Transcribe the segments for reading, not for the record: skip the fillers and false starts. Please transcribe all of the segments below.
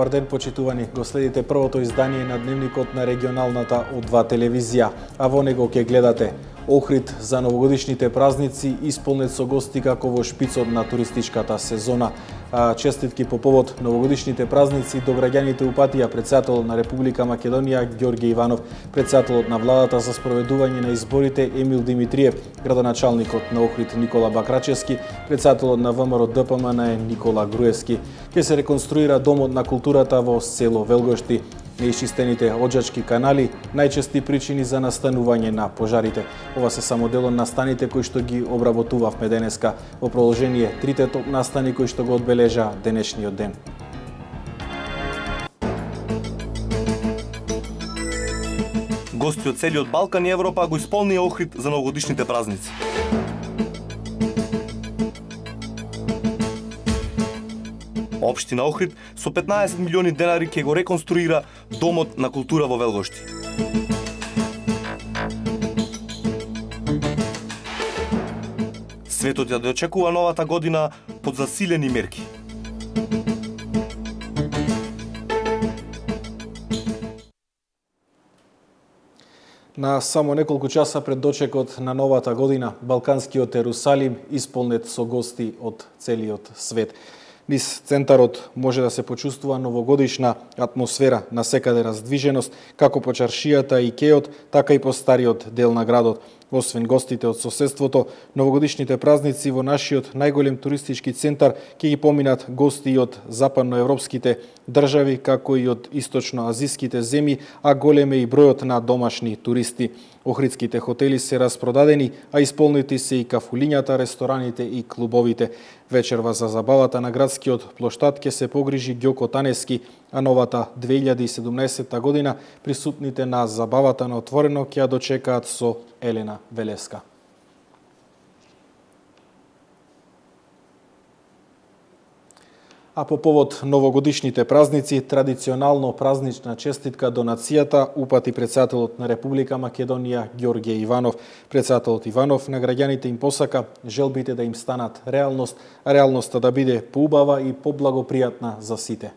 Добар ден, почитувани. Го следите првото издание на дневникот на регионалната од2 телевизија, а во него ќе гледате Охрид за новогодишните празници исполнет со гости како во шпицот на туристичката сезона. Честитки по повод новогодишните празници до граѓаните упатија претседателот на Република Македонија Ѓорѓе Иванов, претседателот на владата за спроведување на изборите Емил Димитриев, градоначалникот на Охрид Никола Бакрачевски, претседателот на ВМРО ДПМН Никола Груевски. Ќе се реконструира домот на културата во село Велгошти. Неисчистените оџачки канали, најчести причини за настанување на пожарите. Ова се само дел од настаните кои што ги обработувавме денеска. Во продолжение, трите топ настани кои што го одбележа денешниот ден. Гости од целиот Балкан и Европа го исполнија Охрид за новогодишните празници. Општина Охрид со 15 милиони денари ќе го реконструира домот на култура во Велгошти. Светот ја дочекува новата година под засилени мерки. На само неколку часа пред дочекот на новата година, Балканскиот Ерусалим исполнет со гости од целиот свет. Низ центарот може да се почувствува новогодишна атмосфера, насекаде раздвиженост, како по чаршијата и кеот, така и по стариот дел на градот. Освен гостите од соседството, новогодишните празници во нашиот најголем туристички центар ќе ги поминат гости од западноевропските држави, како и од источноазиските земји, а голем е и бројот на домашни туристи. Охридските хотели се распродадени, а исполнети се и кафулињата, рестораните и клубовите. Вечерва за забавата на градскиот плоштад ќе се погрижи Ѓоко Танески, а новата 2017 година присутните на забавата на отворено ќе ја дочекаат со Елена Велеска. А по повод новогодишните празници, традиционално празнична честитка до нацијата упати претседателот на Република Македонија Ѓорѓе Иванов. Претседателот Иванов на граѓаните им посака желбите да им станат реалност, а реалноста да биде поубава и поблагопријатна за сите.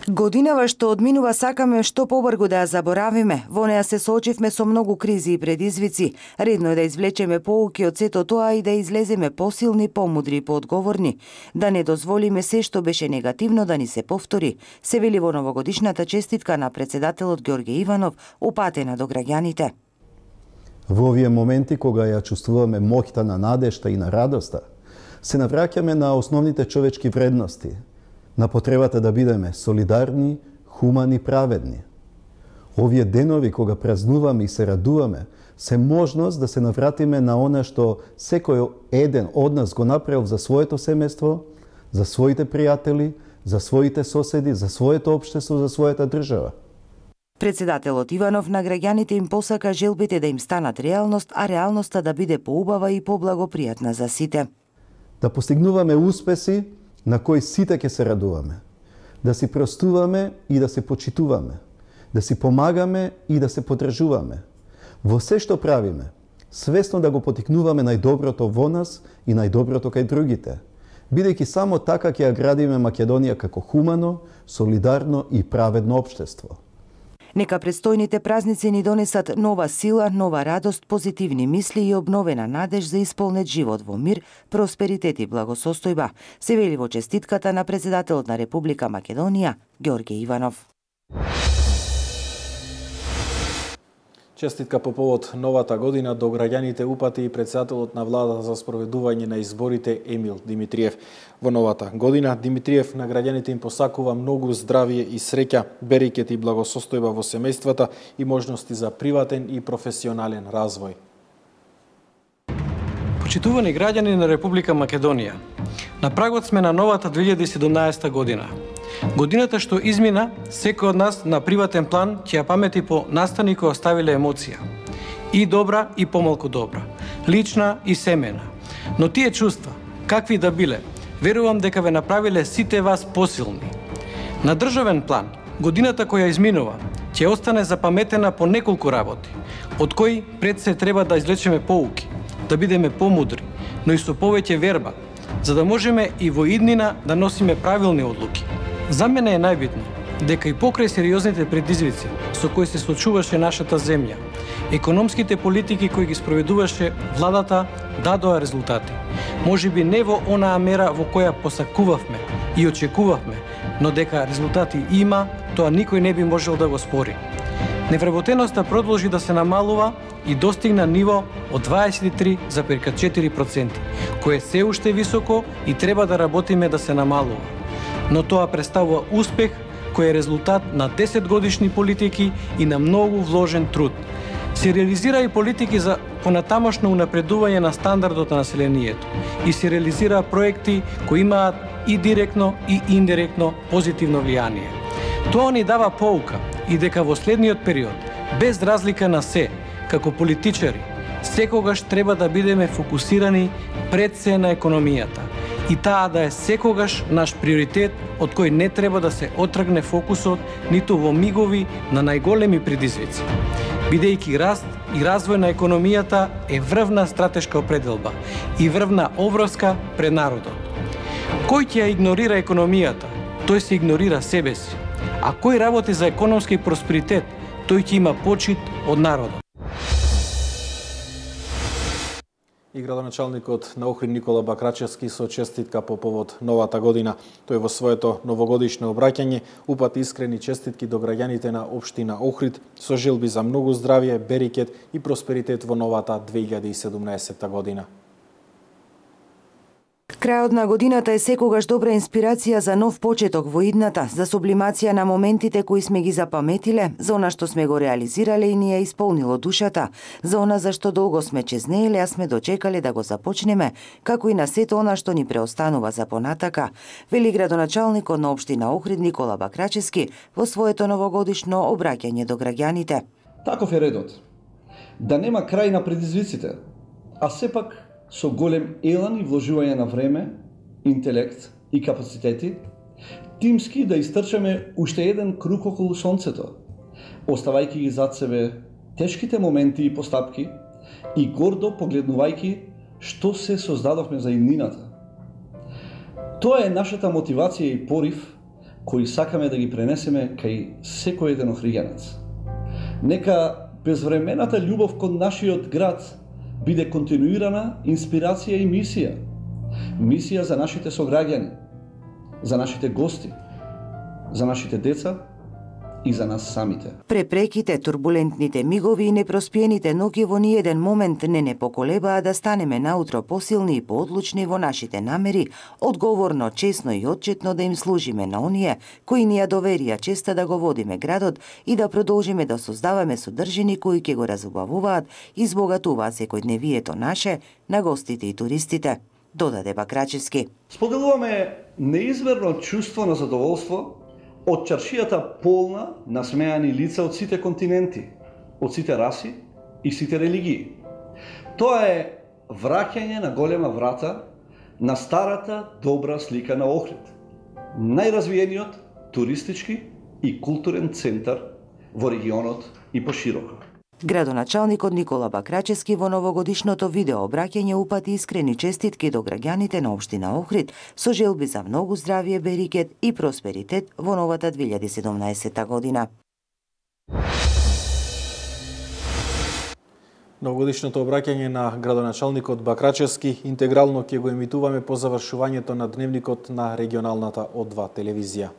Годинава што одминува сакаме што побрзо да ја заборавиме. Во неа се соочивме со многу кризи и предизвици. Редно е да извлечеме поуки од сето тоа и да излеземе посилни, помудри и поодговорни. Да не дозволиме се што беше негативно да ни се повтори, се вели во новогодишната честитка на претседателот Ѓорѓе Иванов, упатена до граѓаните. Во овие моменти кога ја чувствуваме моќта на надежта и на радоста, се навраќаме на основните човечки вредности, на потребата да бидеме солидарни, хумани, праведни. Овие денови кога празнуваме и се радуваме, се можност да се навратиме на она што секој еден од нас го направил за своето семејство, за своите пријатели, за своите соседи, за своето општество, за својата држава. Претседателот Иванов на граѓаните им посака желбите да им станат реалност, а реалноста да биде поубава и поблагопријатна за сите. Да постигнуваме успеси на кои сите ќе се радуваме. Да си простуваме и да се почитуваме. Да си помагаме и да се подржуваме. Во се што правиме, свесно да го потикнуваме најдоброто во нас и најдоброто кај другите, бидејќи само така ќе ја градиме Македонија како хумано, солидарно и праведно општество. Нека предстојните празници ни донесат нова сила, нова радост, позитивни мисли и обновена надеж за исполнет живот во мир, просперитет и благосостојба, се вели во честитката на претседателот на Република Македонија Ѓорѓе Иванов. Честитка по повод новата година до граѓаните упати и претседателот на владата за спроведување на изборите Емил Димитриев. Во новата година Димитриев на граѓаните им посакува многу здравје и среќа, берекет и благосостојба во семејствата и можности за приватен и професионален развој. Почитувани граѓани на Република Македонија, на прагот сме на новата 2017 година. Годината што измина, секој од нас на приватен план ќе ја памети по настани кои оставиле емоција. И добра и помалку добра, лична и семена. Но тие чувства, какви да биле, верувам дека ве направиле сите вас посилни. На државен план, годината која изминува ќе остане запаметена по неколку работи, од кои пред се треба да извлечеме поуки, да бидеме помудри, но и со повеќе верба, за да можеме и во иднина да носиме правилни одлуки. За мене е најбитно дека и покрај сериозните предизвици со кои се соочуваше нашата земја, економските политики кои ги спроведуваше владата дадоа резултати. Можеби не во онаа мера во која посакувавме и очекувавме, но дека резултати има, тоа никој не би можел да го спори. Невработеноста продолжи да се намалува и достигна ниво од 23,4%, кое е се уште високо и треба да работиме да се намалува. Но тоа представува успех кој е резултат на 10 годишни политики и на многу вложен труд. Се реализира и политики за понатамошно унапредување на стандардот на населението и се реализира проекти кои имаат и директно и индиректно позитивно влијание. Тоа ни дава поука и дека во следниот период, без разлика на се, како политичари, секогаш треба да бидеме фокусирани пред се на економијата и таа да е секогаш наш приоритет од кој не треба да се отргне фокусот ниту во мигови на најголеми предизвици. Бидејќи раст и развој на економијата е врвна стратешка определба и врвна обврска пред народот. Кој ќе ја игнорира економијата, тој се игнорира себе си, а кој работи за економски просперитет, тој ќе има почит од народот. И градоначалникот на Охрид Никола Бакрачевски со честитка по повод новата година. Тој во своето новогодишно обраќање упати искрени честитки до граѓаните на општина Охрид со желби за многу здравје, берекет и просперитет во новата 2017 година. Крајот на годината е секогаш добра инспирација за нов почеток во идната, за сублимација на моментите кои сме ги запаметиле, за она што сме го реализирале и ни е исполнило душата, за она за што долго сме чезнееле, а сме дочекале да го започнеме, како и на сето она што ни преостанува за понатака, вели градоначалникот на општина Охрид Никола Бакрачевски во своето новогодишно обраќање до граѓаните. Таков е редот. Да нема крај на предизвиците, а сепак со голем елан и вложување на време, интелект и капацитети, тимски да истрчаме уште еден круг околу сонцето, оставајќи ги зад себе тешките моменти и постапки и гордо погледнувајќи што се создадовме за иднината. Тоа е нашата мотивација и порив кои сакаме да ги пренесеме кај секој еден охриѓанец. Нека безвремената љубов кон нашиот град биде континуирана инспирација и мисија. Мисија за нашите сограѓани, за нашите гости, за нашите деца и за нас самите. Препреките, турбулентните мигови и непроспиените ноќи во ниеден момент не поколебаа да станеме наутро посилни и поодлучни во нашите намери, одговорно, честно и отчетно да им служиме на оние кои ни ја доверија честа да го водиме градот и да продолжиме да создаваме содржини кои ќе го разубавуваат и збогатуваат секојдневието наше на гостите и туристите, додаде Бакрачевски. Споделуваме неизмерно чувство на задоволство од чаршијата полна насмеани лица од сите континенти, од сите раси и сите религии. Тоа е враќање на голема врата на старата добра слика на Охрид, најразвиениот туристички и културен центар во регионот и пошироко. Градоначалникот Никола Бакрачевски во новогодишното видео обраќање упати искрени честитки до граѓаните на општина Охрид со желби за многу здравје, берекет и просперитет во новата 2017 година. Новогодишното обраќање на градоначалникот Бакрачевски интегрално ќе го емитуваме по завршувањето на дневникот на регионалната О2 телевизија.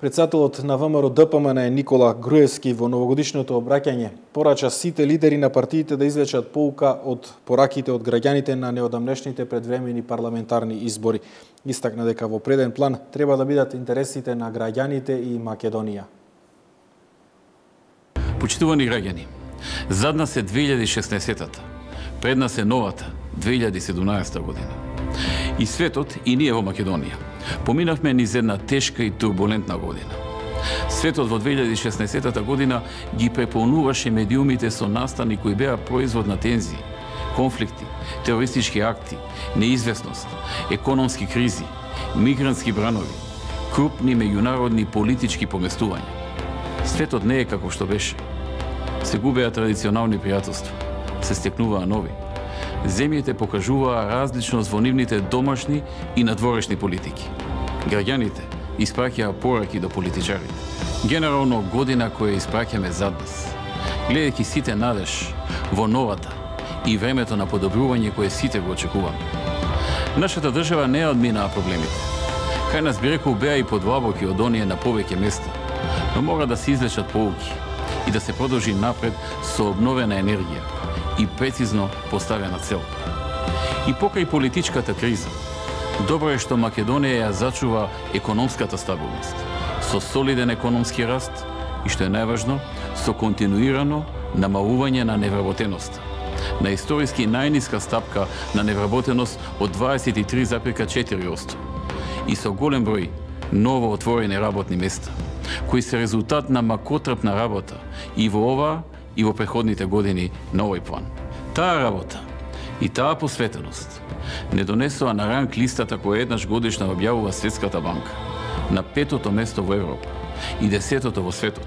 Председателот на ВМРО ДПМН Никола Груевски во новогодишното обраќање порача сите лидери на партиите да извлечат поука од пораките од граѓаните на неодамнешните предвремени парламентарни избори. Истакна дека во преден план треба да бидат интересите на граѓаните и Македонија. Почитувани граѓани, зад нас е 2016-та, пред нас е новата 2017 година. И светот, и ние во Македонија, поминавме низ една тешка и турбулентна година. Светот во 2016 година ги преполнуваше медиумите со настани кои беа производ на тензии, конфликти, терористички акти, неизвестност, економски кризи, мигрантски бранови, крупни меѓународни политички поместувања. Светот не е како што беше. Се губеа традиционални пријателства, се стекнуваа нови. Земјите покажуваа различност во нивните домашни и надворешни политики. Граѓаните испраќаа пораки до политичарите. Генерално година која испраќаме зад нас, гледајќи сите надеж во новата и времето на подобрување кое сите го очекуваме. Нашата држава не одминаа проблемите. Кај нас би рекол беа и подлабоки од оние на повеќе места, но мора да се извлечат поуки и да се продолжи напред со обновена енергија и прецизно поставена цел. И покрај политичката криза, добро е што Македонија ја зачува економската стабилност, со солиден економски раст и, што е најважно, со континуирано намалување на невработеноста, на историски најниска стапка на невработеност од 23,4% и со голем број ново отворени работни места, кои се резултат на макотрпна работа и во ова и во преходните години на овој план. Таа работа и таа посветеност не донесоа на ранг листата која еднаш годишно објавува Светската банка на 5-то место во Европа и 10-то во светот,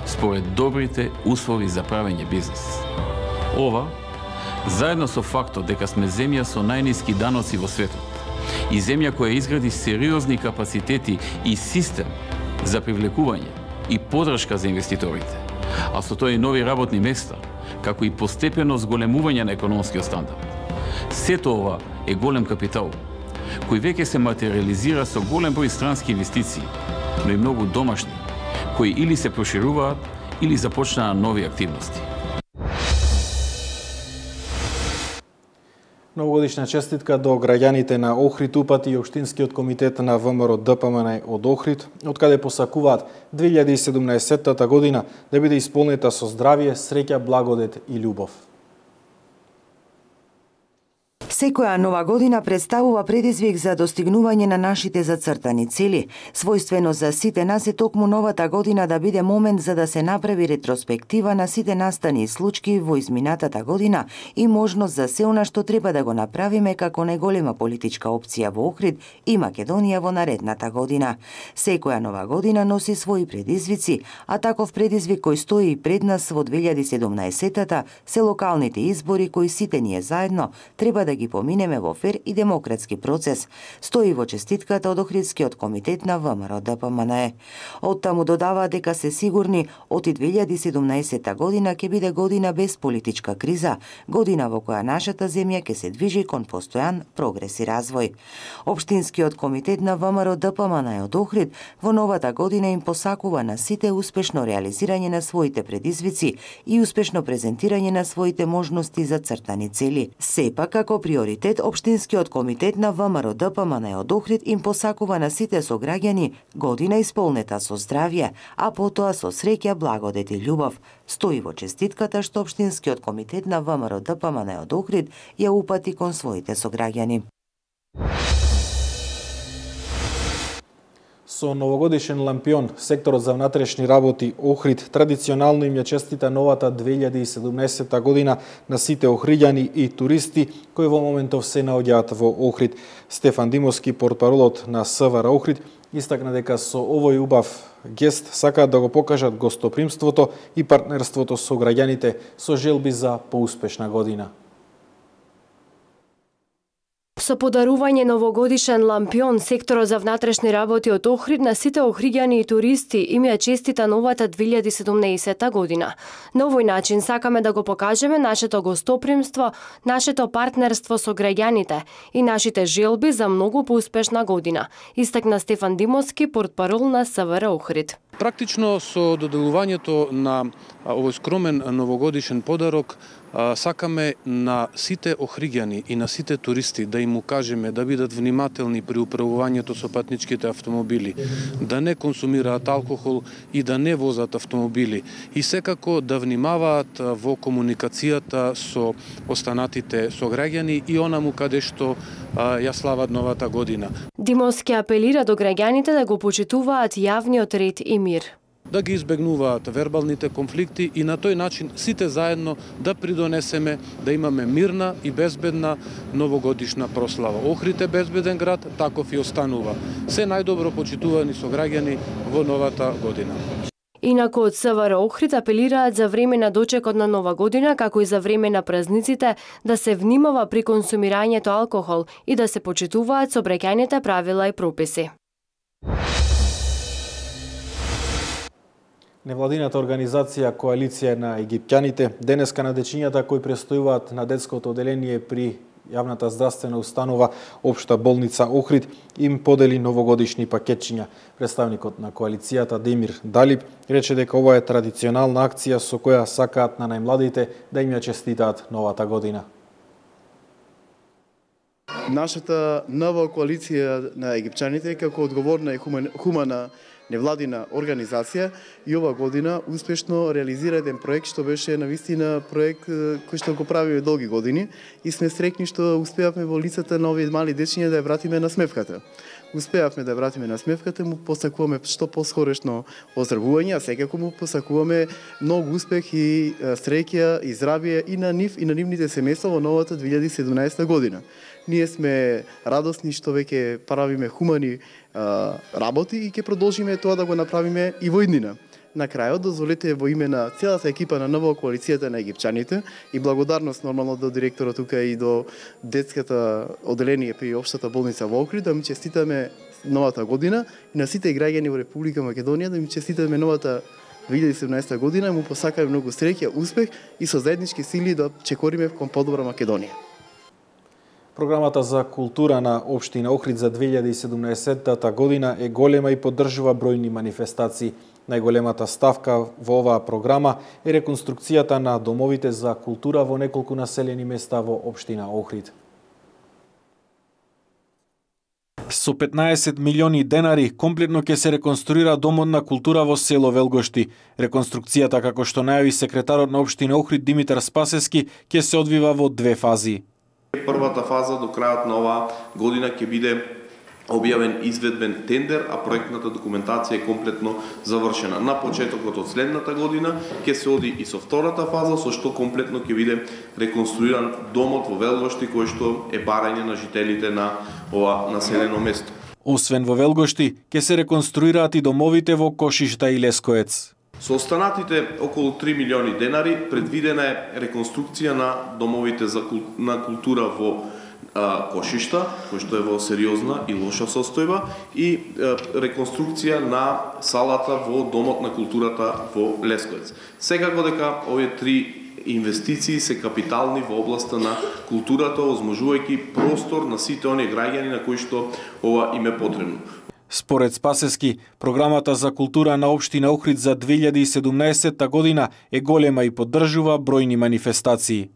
според добрите услови за правење бизнес. Ова, заедно со фактот дека сме земја со најниски даноци во светот и земја која изгради сериозни капацитети и систем за привлекување и подршка за инвеститорите, а со тоа и нови работни места, како и постепено зголемување на економскиот стандард. Сето ова е голем капитал, кој веќе се материализира со голем број странски инвестиции, но и многу домашни, кои или се прошируваат, или започнаа нови активности. Новогодишна честитка до граѓаните на Охрид упати и Општинскиот комитет на ВМРО ДПМН од Охрид, од каде посакуваат 2017 година да биде исполнета со здравје, среќа, благодет и љубов. Секоја нова година представува предизвик за достигнување на нашите зацртани цели. Својствено за сите нас е токму новата година да биде момент за да се направи ретроспектива на сите настани и случаи во изминатата година и можност за се она што треба да го направиме како најголема политичка опција во Охрид и Македонија во наредната година. Секоја нова година носи своји предизвици, а таков предизвик кој стои и пред нас во 2017-та се локалните избори кои сите ние заедно треба да ги поминеме во фер и демократски процес, стои во честитката од Охридскиот комитет на ВМРО ДПМН. Од таму додава дека се сигурни од 2017 година ќе биде година без политичка криза, година во која нашата земја ќе се движи кон постојан прогрес и развој. Општинскиот комитет на ВМРО ДПМН од Охрид во новата година им посакува на сите успешно реализирање на своите предизвици и успешно презентирање на своите можности за цртани цели. Сепак, како приоритет, Општинскиот комитет на ВМРО ДПМН од Охрид им посакува на сите сограѓани година исполнета со здравје, а потоа со среќа, благодет и љубов. Стои во честитката што Општинскиот комитет на ВМРО ДПМН од Охрид ја упати кон своите сограѓани. Со новогодишен лампион, секторот за внатрешни работи Охрид традиционално им ја честита новата 2017 година на сите охриѓани и туристи кои во моментов се наоѓаат во Охрид. Стефан Димовски, портпаролот на СВР Охрид, истакна дека со овој убав гест сакаат да го покажат гостопримството и партнерството со граѓаните со желби за поуспешна година. Со подарување новогодишен лампион, секторот за внатрешни работи од Охрид на сите охриѓани и туристи им ја честита новата 2017 година. На овој начин сакаме да го покажеме нашето гостопримство, нашето партнерство со граѓаните и нашите желби за многу поуспешна година, истакна Стефан Димовски, портпарол на СВР Охрид. Практично со доделувањето на овој скромен новогодишен подарок сакаме на сите охриѓани и на сите туристи да им укажеме да бидат внимателни при управувањето со патничките автомобили, да не консумираат алкохол и да не возат автомобили и секако да внимаваат во комуникацијата со останатите сограѓани и онаму каде што ја слават новата година. Димовски апелира до граѓаните да го почитуваат јавниот ред и мир, да ги избегнуваат вербалните конфликти и на тој начин сите заедно да придонесеме да имаме мирна и безбедна новогодишна прослава. Охрид е безбеден град, таков и останува. Се најдобро почитувани сограѓани во новата година. Инаку од СВР Охрид апелираат за време на дочекот на Нова година, како и за време на празниците, да се внимава при консумирањето алкохол и да се почитуваат сообраќајните правила и прописи. Невладината организација Коалиција на египтјаните денеска на дечињата кои престојуваат на детското оделение при јавната здравствена установа Општа болница Охрид им подели новогодишни пакетчиња. Представникот на коалицијата Демир Далиб рече дека ова е традиционална акција со која сакаат на најмладите да им ја честитаат новата година. Нашата нова коалиција на египтчаните како одговорна и хумана невладина организација и ова година успешно реализира еден проект што беше навистина проект кој што го правиме долги години и сме среќни што успеавме во лицата на овие мали дечиња да ја вратиме на смевката. Успеавме да вратиме на смевката, му посакуваме што поскорешно оздравување, а секако му посакуваме многу успех и среќа и здравје и на нив и на нивните семејства во новата 2017 година. Ние сме радосни што веќе правиме хумани работи и ќе продолжиме тоа да го направиме и во иднина. На крајот, дозволете во име на целата екипа на нова коалицијата на египтчаните и благодарност нормално до директорот тука и до детската оделение при Општата болница во Охрид да ми честитаме новата година и на сите граѓани во Република Македонија да ми честитаме новата 2017 година и му посакаме многу среќа, успех и со заеднички сили да чекориме кон подобра Македонија. Програмата за култура на Општина Охрид за 2017 година е голема и поддржува бројни манифестации. Најголемата ставка во оваа програма е реконструкцијата на домовите за култура во неколку населени места во Општина Охрид. Со 15 милиони денари комплетно ќе се реконструира домот на култура во село Велгошти. Реконструкцијата, како што најави секретарот на Општина Охрид Димитар Спасевски, ќе се одвива во две фази. Првата фаза до крајот на оваа година ќе биде објавен изведбен тендер, а проектната документација е комплетно завршена. На почетокот од следната година ќе се оди и со втората фаза, со што комплетно ќе биде реконструиран домот во Велгошти, кој што е барање на жителите на ова населено место. Освен во Велгошти, ќе се реконструираат и домовите во Кошишта и Лескоец. Со останатите околу 3 милиони денари предвидена е реконструкција на домовите на култура во Кошишта, кој што е во сериозна и лоша состојба, и реконструкција на салата во Домот на културата во Лесковец. Секако дека овие три инвестиции се капитални во областа на културата, озможувајќи простор на сите оние граѓани на кои што ова им е потребно. Според Спасевски, програмата за култура на Општина Охрид за 2017 година е голема и поддржува бројни манифестации.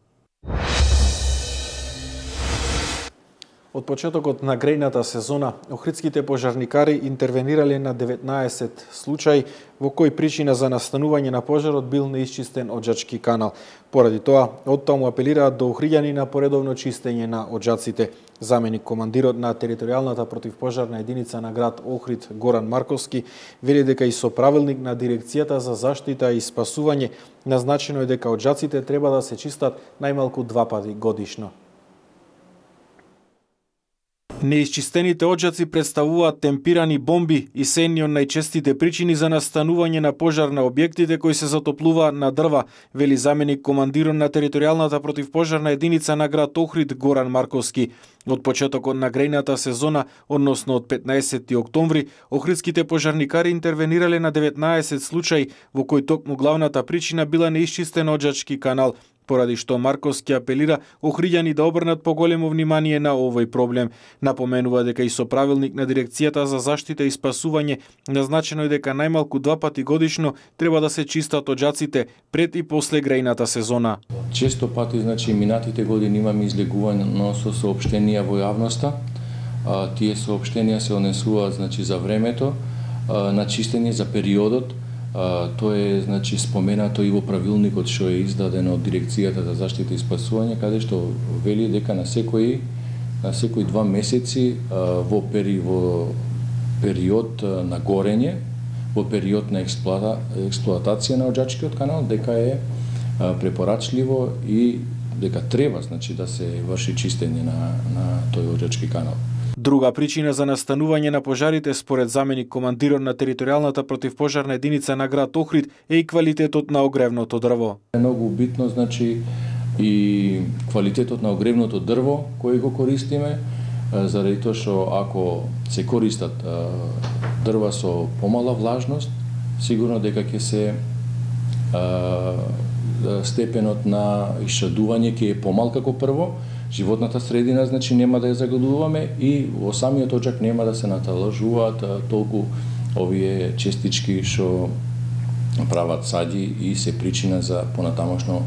Од почетокот на грејната сезона, охридските пожарникари интервенирале на 19 случаи во кои причина за настанување на пожарот бил неисчистен оџачки канал. Поради тоа, оттаму апелираат до охриѓани на поредовно чистење на оџаците. Заменик командирот на територијалната противпожарна единица на град Охрид Горан Марковски вели дека и со правилник на дирекцијата за заштита и спасување назначено е дека оџаците треба да се чистат најмалку 2 пати годишно. Неисчистените оџаци представуваат темпирани бомби и се едни од најчестите причини за настанување на пожар на објектите кои се затоплуваат на дрва, вели заменик командирот на територијалната противпожарна единица на град Охрид Горан Марковски. Од почетокот на грејната сезона, односно од 15 октомври, охридските пожарникари интервенирале на 19 случаи во кои токму главната причина била неисчистен оџачки канал, поради што Марковски апелира охриѓани да обрнат поголемо внимание на овој проблем. Напоменува дека и со правилник на дирекцијата за заштита и спасување назначено е дека најмалку 2 пати годишно треба да се чистат оџаците пред и после грејната сезона. Често пати, минатите години имаме излегувано со соопштенија во јавноста. Тие соопштенија се однесуваат за времето на чистење, за периодот. Тоа е споменато и во правилникот што е издаден од дирекцијата за заштита и спасување, каде што вели дека на секои 2 месеци во период на горење, во период на експлоатација на оџачкиот канал, дека е препорачливо и дека треба да се врши чистење на тој оџачки канал. Друга причина за настанување на пожарите според заменик командирот на територијалната противпожарна единица на град Охрид е и квалитетот на огревното дрво. Многу битно, значи, и квалитетот на огревното дрво кој го користиме, заради тоа што ако се користат дрва со помала влажност, сигурно дека ќе се степенот на ишчадување ќе е помал како прво, животната средина, значи нема да ја загадуваме и во самиот оджак нема да се наталажуваат толку овие честички што прават сади и се причина за понатамошно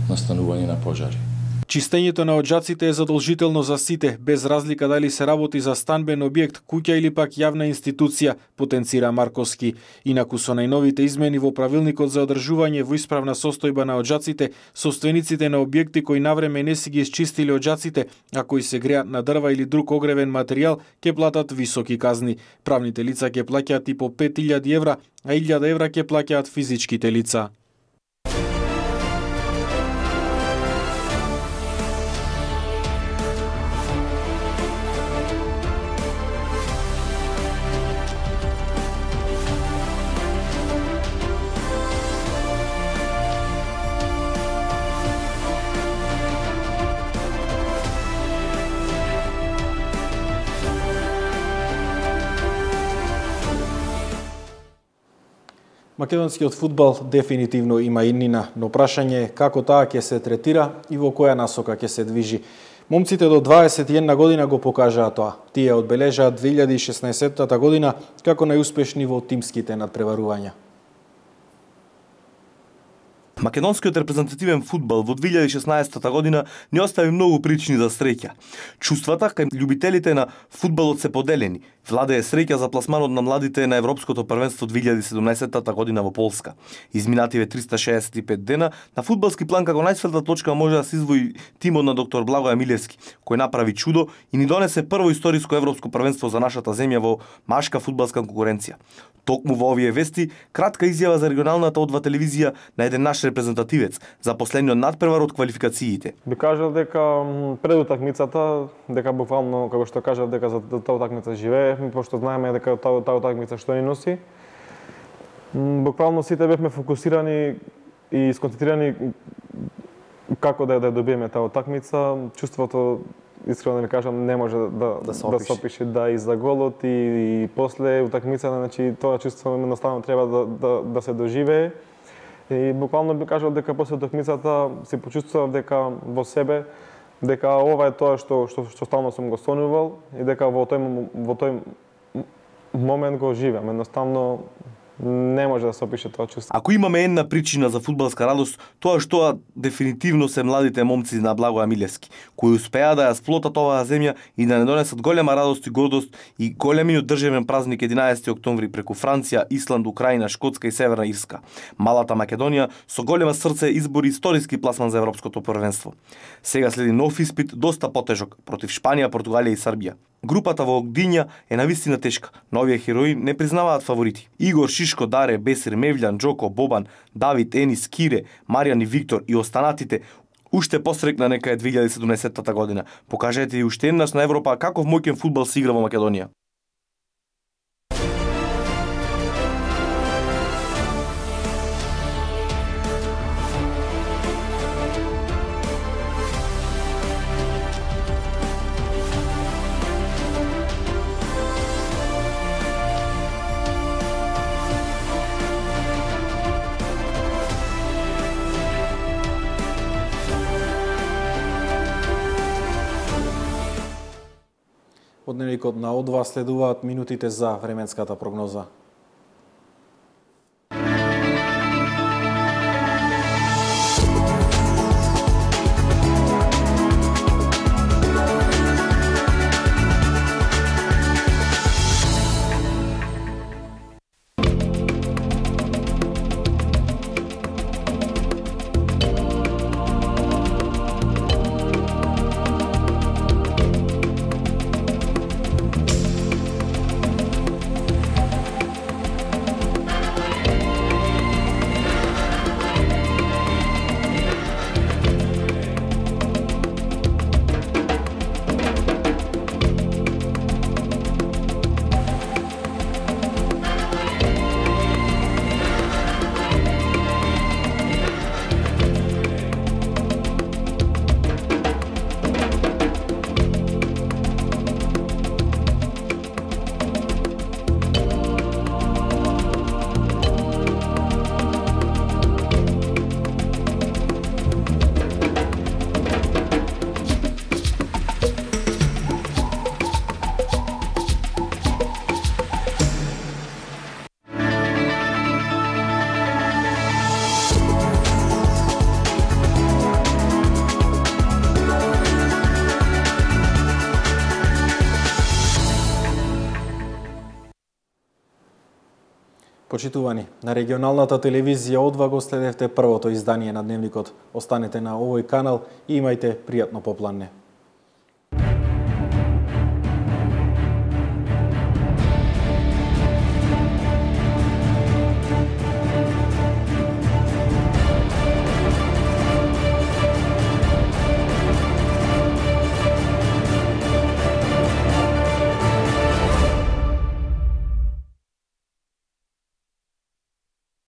настанување на пожари. Чистењето на оджаците е задолжително за сите, без разлика дали се работи за станбен објект, куќа или пак јавна институција, потенцира Марковски. Инаку со најновите измени во правилникот за одржување во исправна состојба на оджаците, собствениците на објекти кои навреме не си ги исчистиле оджаците, а кои се греат на дрва или друг огревен материјал, ќе платат високи казни. Правните лица ќе плаќаат и по 5000 евра, а 1000 евра ќе плаќаат физичките лица. Македонскиот фудбал дефинитивно има иднина, но прашање е како таа ќе се третира и во која насока ќе се движи. Момците до 21 година го покажаа тоа. Тие одбележаа 2016 година како најуспешни во тимските надпреварувања. Македонскиот репрезентативен фудбал во 2016 година не остави многу причини за среќа. Чувствата кај љубителите на фудбалот се поделени. Владее среќа за пласманот на младите на Европското првенство 2017 година во Полска. Изминативе 365 дена, на фудбалски план како најсветла точка може да се издвои тимот на доктор Благој Милевски, кој направи чудо и ни донесе прво историско европско првенство за нашата земја во машка фудбалска конкуренција. Токму во овие вести, кратка изјава за регионалната одва телевизија на еден наш репрезентативец за последниот надпревар од квалификациите. Би кажал дека пред утакмицата, дека буквално како што кажав дека за таа утакмица живеевме, пошто знаеме дека таа утакмица што ни носи. Буквално сите бевме фокусирани и сконцентрирани како да ја добиеме таа утакмица. Чувството, искрено да ви кажам, не може да се опише и за голот и после утакмицата, значи тоа чувство едноставно треба да се доживее. И буквално би кажал дека после утакмицата се почувствував дека во себе дека ова е тоа што стално сум го сонувал и дека во тој момент го живеам. Едноставно не може да се опише тоа чувство. Ако имаме една причина за фудбалска радост, тоа што дефинитивно се младите момци на Благој Милевски, кои успеа да ја сплотат оваа земја и да не донесат голема радост и гордост и големиот државен празник 11 октомври преку Франција, Исланд, Украина, Шкотска и Северна Ирска. Малата Македонија со голема срце избори историски пласман за Европското првенство. Сега следи нов испит, доста потежок, против Шпанија, Португалија и Србија. Групата во Огдиња е навистина тешка, но овие херои не признаваат фаворити. Игор, Шишко, Даре, Бесир, Мевљан, Джоко, Бобан, Давид, Енис, Кире, Маријан и Виктор и останатите уште посрекна нека е 2017 година. Покажете и уште еднаш на Европа каков моќен фудбал се игра во Македонија. Од дневникот на Одва следуваат минутите за временската прогноза. Почитувани, на регионалната телевизија одва го следевте првото издание на Дневникот. Останете на овој канал и имајте пријатно попладне.